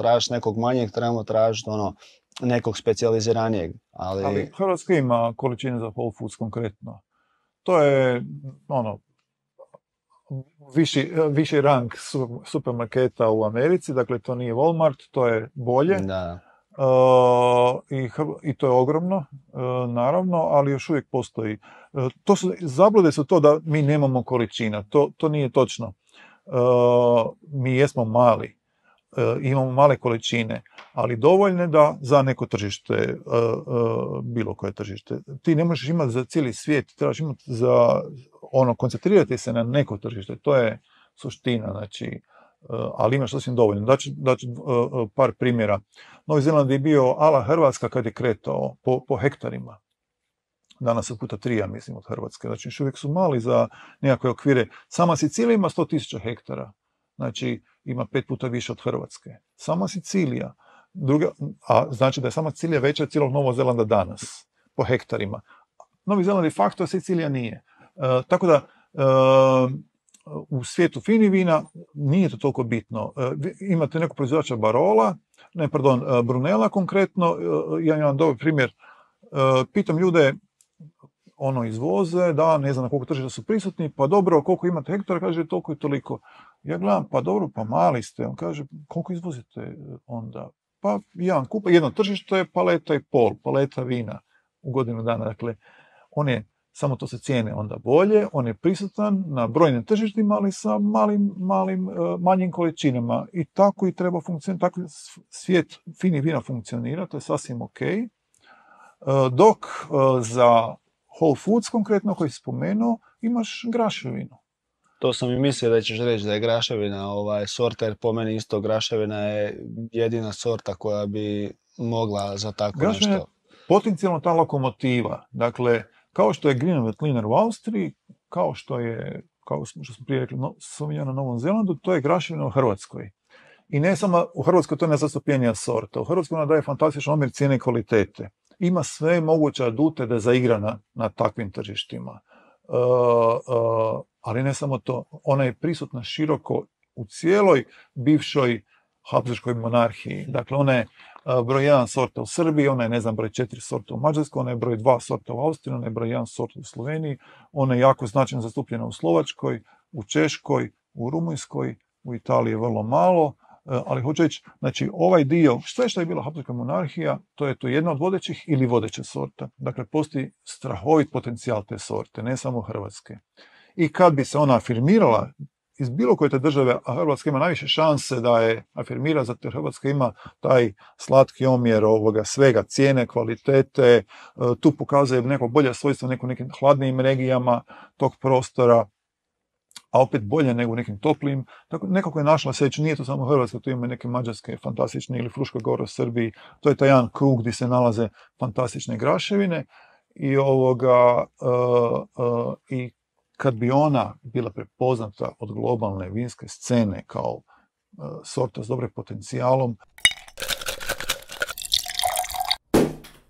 tražiš nekog manjeg, trebamo tražiti ono, nekog specijaliziranijeg. Ali Hrvatska ima količine za Whole Foods konkretno. To je ono, viši rang supermarketa u Americi, dakle to nije Walmart, to je bolje. Da. I to je ogromno, naravno, ali još uvijek postoji. Zablude su to da mi nemamo količina, to nije točno. Mi jesmo mali, imamo male količine, ali dovoljne da za neko tržište, bilo koje tržište. Ti ne možeš imati za cijeli svijet, trebaš imati za koncentrirati se na neko tržište, to je suština, znači, ali imaš sasvim dovoljno. Daću par primjera. Novi Zeland je bio ala Hrvatska kad je kretao po hektarima. Danas su puta 3, ja mislim, od Hrvatske. Znači, još uvijek su mali za nekakve okvire. Sama Sicilija ima 100.000 hektara. Znači, ima 5 puta više od Hrvatske. Sama Sicilija. A znači da je sama Sicilija veća od cijelog Novog Zelanda danas, po hektarima. Novi Zeland de facto, a Sicilija nije. Tako da, u svijetu finih vina nije to toliko bitno. Imate nekog proizvođača Brunella konkretno. Ja imam dobar primjer. Pitam ljude, izvoze, da, ne znam na koliko tržišta su prisutni, pa dobro, koliko imate hektara, kaže toliko i toliko. Ja gledam, pa dobro, pa mali ste. On kaže, koliko izvozite onda? Pa jedno tržište, paleta vina u godinu dana. Dakle, samo to se cijene onda bolje, on je prisutan na brojnim tržištima, ali sa manjim količinama. I tako i treba funkcionirati, tako svijet finih vina funkcionira, to je sasvim ok. Dok za Whole Foods konkretno, koji si spomenuo, imaš graševinu. To sam i mislio da ćeš reći da je graševina sorta, jer po meni isto graševina je jedina sorta koja bi mogla za tako graševina nešto. Je potencijalno ta lokomotiva. Dakle, kao što je Green Veltliner u Austriji, kao što smo prije rekli, Sauvignon na Novom Zelandu, to je graševina u Hrvatskoj. I ne samo u Hrvatskoj, to je nezastupljenija sorta. U Hrvatskoj ona daje fantastičan omjer cijene i kvalitete. Ima sve moguće adute da zaigra na takvim tržištima. Ali ne samo to, ona je prisutna široko u cijeloj bivšoj Habsburškoj monarhiji. Dakle, ona je broj 1 sorta u Srbiji, ona je, broj 4 sorta u Mađarskoj, ona je broj 2 sorta u Austriji, ona je broj 1 sorta u Sloveniji, ona je jako značajno zastupljena u Slovačkoj, u Češkoj, u Rumunjskoj, u Italiji je vrlo malo, ali hoću reći, znači ovaj dio, sve što je bila Habsburška monarhija, to je to jedna od vodećih ili vodeća sorta. Dakle, postoji strahovit potencijal te sorte, ne samo Hrvatske. I kad bi se ona afirmirala iz bilo koje te države, a Hrvatska ima najviše šanse da je afirmira, zato jer Hrvatska ima taj slatki omjer svega, cijene, kvalitete, tu pokazuje neko bolje svojstvo nekim hladnijim regijama tog prostora, a opet bolje nego u nekim toplim. Tako, nekako je našla sreću, nije to samo Hrvatska, tu ima neke mađarske fantastične ili Fruška Gora u Srbiji, to je taj jedan krug gdje se nalaze fantastične graševine i kad bi ona bila prepoznata od globalne vinske scene kao sorta s dobrim potencijalom,